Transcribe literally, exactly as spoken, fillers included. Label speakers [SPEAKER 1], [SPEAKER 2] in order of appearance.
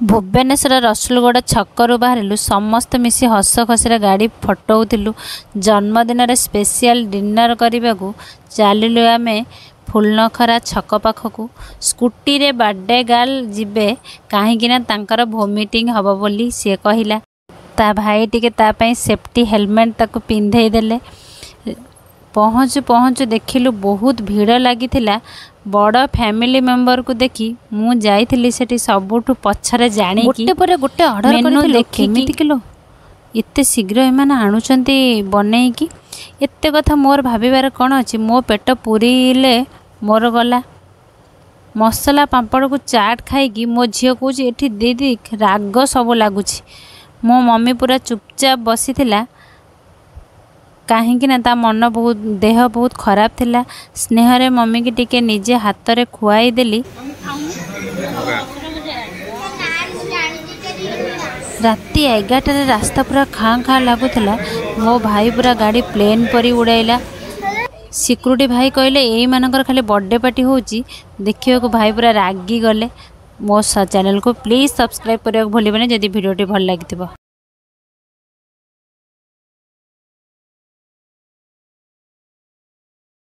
[SPEAKER 1] ଭୁବନେଶ୍ୱର ରସୁଲଗଡ଼ ଛକରୁ ବାହାରିଲୁ। ସମସ୍ତେ ମିଶି ହସ ଖୁସିରେ ଗାଡ଼ି ଫଟଉଥିଲୁ। ଜନ୍ମଦିନରେ ସ୍ପେସିଆଲ ଡିନର କରିବାକୁ ଚାଲିଲୁ ଆମେ ଫୁଲନଖରା ଛକ ପାଖକୁ। ସ୍କୁଟିରେ ବାର୍ଥଡେ ଗାର୍ଲ ଯିବେ, କାହିଁକିନା ତାଙ୍କର ଭୋମିଟିଂ ହେବ ବୋଲି ସିଏ କହିଲା। ତା ଭାଇ ଟିକେ ତା ପାଇଁ ସେଫ୍ଟି ହେଲମେଟ୍ ତାକୁ ପିନ୍ଧେଇ ଦେଲେ। ପହଞ୍ଚୁ ପହଞ୍ଚୁ ଦେଖିଲୁ ବହୁତ ଭିଡ଼ ଲାଗିଥିଲା। ବଡ଼ ଫ୍ୟାମିଲି ମେମ୍ବରକୁ ଦେଖି ମୁଁ ଯାଇଥିଲି ସେଠି ସବୁଠୁ ପଛରେ ଜାଣିକି।
[SPEAKER 2] ଗୋଟେ ପରେ ଗୋଟେ ଅର୍ଡ଼ର
[SPEAKER 1] ମେନୁ
[SPEAKER 2] କରିଥିଲୁ।
[SPEAKER 1] ଦେଖିକି
[SPEAKER 2] କେମିତି କିଲୋ
[SPEAKER 1] ଏତେ ଶୀଘ୍ର ଏମାନେ ଆଣୁଛନ୍ତି ବନେଇକି? ଏତେ କଥା ମୋର ଭାବିବାର କ'ଣ ଅଛି? ମୋ ପେଟ ପୁରିଲେ ମୋର ଗଲା। ମସଲା ପାମ୍ପଡ଼କୁ ଚାଟ୍ ଖାଇକି ମୋ ଝିଅ କହୁଛି, ଏଠି ଦିଦି ରାଗ ସବୁ ଲାଗୁଛି। ମୋ ମମି ପୁରା ଚୁପଚାପ ବସିଥିଲା, କାହିଁକି ନା ତା ମନ ବହୁତ, ଦେହ ବହୁତ ଖରାପ ଥିଲା। ସ୍ନେହରେ ମମିକି ଟିକେ ନିଜେ ହାତରେ ଖୁଆଇଦେଲି। ରାତି ଏଗାରଟାରେ ରାସ୍ତା ପୁରା ଖାଁ ଖାଁ ଲାଗୁଥିଲା। ମୋ ଭାଇ ପୁରା ଗାଡ଼ି ପ୍ଲେନ୍ ପରି ଉଡ଼ାଇଲା। ସିକ୍ୟୁରିଟି ଭାଇ କହିଲେ, ଏଇମାନଙ୍କର ଖାଲି ବର୍ଥଡେ ପାର୍ଟି ହେଉଛି। ଦେଖିବାକୁ ଭାଇ ପୁରା ରାଗିଗଲେ। ମୋ ଚ୍ୟାନେଲକୁ ପ୍ଲିଜ୍ ସବସ୍କ୍ରାଇବ୍ କରିବାକୁ ଭୁଲିବେନି ଯଦି ଭିଡ଼ିଓଟି ଭଲ ଲାଗିଥିବ।